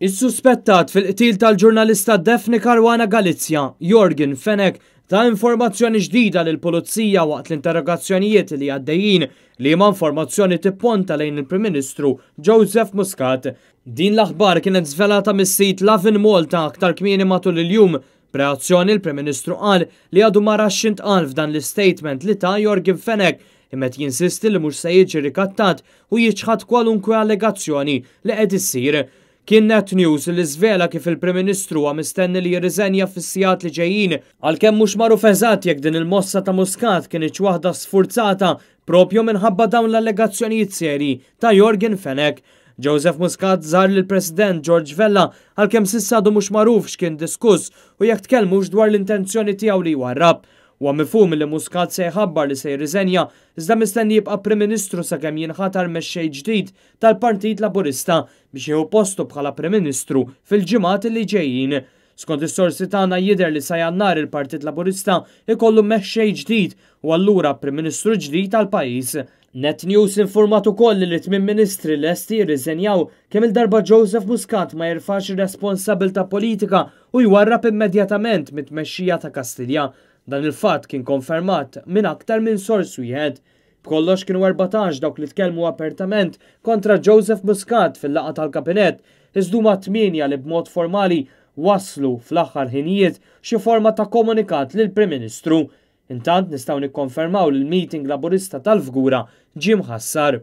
Is-suspettat fil-qtil tal-ġurnalista Daphne Caruana Galizia, Yorgen Fenech, ta informazzjoni ġdida lill-Pulizija waqt l-interrogazzjonijiet li għaddejjin, liema informazzjoni tipponta lejn il-Prim Ministru Joseph Muscat. Din l-aħbar kienet żvelata mis-sit Lovin Malta aktar kmieni matul il-jum. B'reazzjoni l-Prim Ministru qal li għadu ma rax x'intqal f'dan l-istatement li ta Yorgen Fenech, imma qed jinsisti li mhux se jiġi rikattat u jiċħad kwalunkwe allegazzjoni li qed issir. Kien Net News li żvela kif il-Prim Ministru huwa mistenni li jirriżenja fis-sigħat li ġejjin, għalkemm mhux magħruf eżatt jekk din il-mossa ta' Muscat kinitx waħda sfurzata propju minħabba dawn l-allegazzjonijiet serji ta' Yorgen Fenech. Joseph Muscat żar lill-President George Vella, għalkemm s'issa għadu mhux magħruf x'kien diskuss u jekk tkellmux dwar l-intenzjoni tiegħu li jwarrab. Huwa mifhum li Muscat se jħabbar li se jirriżenja, iżda mistenni jibqa' Prim Ministru sakemm jinħatar mexxej ġdid tal-Partit Laburista biex jieħu postu bħala Prim Ministru fil-ġimgħat li ġejjin. Skont is-sorsi tagħna jidher li sa Jannar il-Partit Laburista ikollu mexxej ġdid u allura Prim Ministru ġdid tal-pajjiż. Net News informat ukoll li t-tmien ministri lesti jirriżenjaw kemm il-darba Joseph Muscat ma jerfax ir-responsabilità politika u jwarrab immedjatament mit-tmexxija ta' Kastilja. Dan il-fatt kien konfermat minn aktar minn sors wieħed. B'kollox kienu 14 dawk li tkellmu apertament kontra Joseph Muscat fil-laqgħa tal-kabinett, iżda huma 8 li b'mod formali waslu fl-aħħar ħinijiet xi forma ta' komunikat lill-Prim Ministru. Intant nistgħu nikkonfermaw li l-meeting Laburista tal-Fgura ġie mħassar.